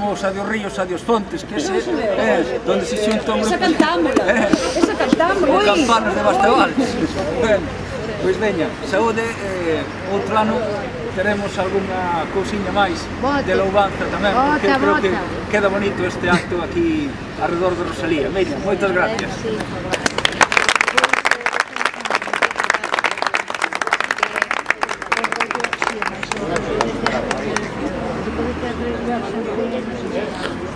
Adiós ríos, adiós fontes, que ese é donde se xunta un grupo. Esa cantámola, esa cantámola. Campanas de Bastevales. Pois veña, saúde, outro ano teremos algunha cousiña máis de louvanza tamén, porque creo que queda bonito este acto aquí alrededor de Rosalía. Veña, moitas gracias. Gracias.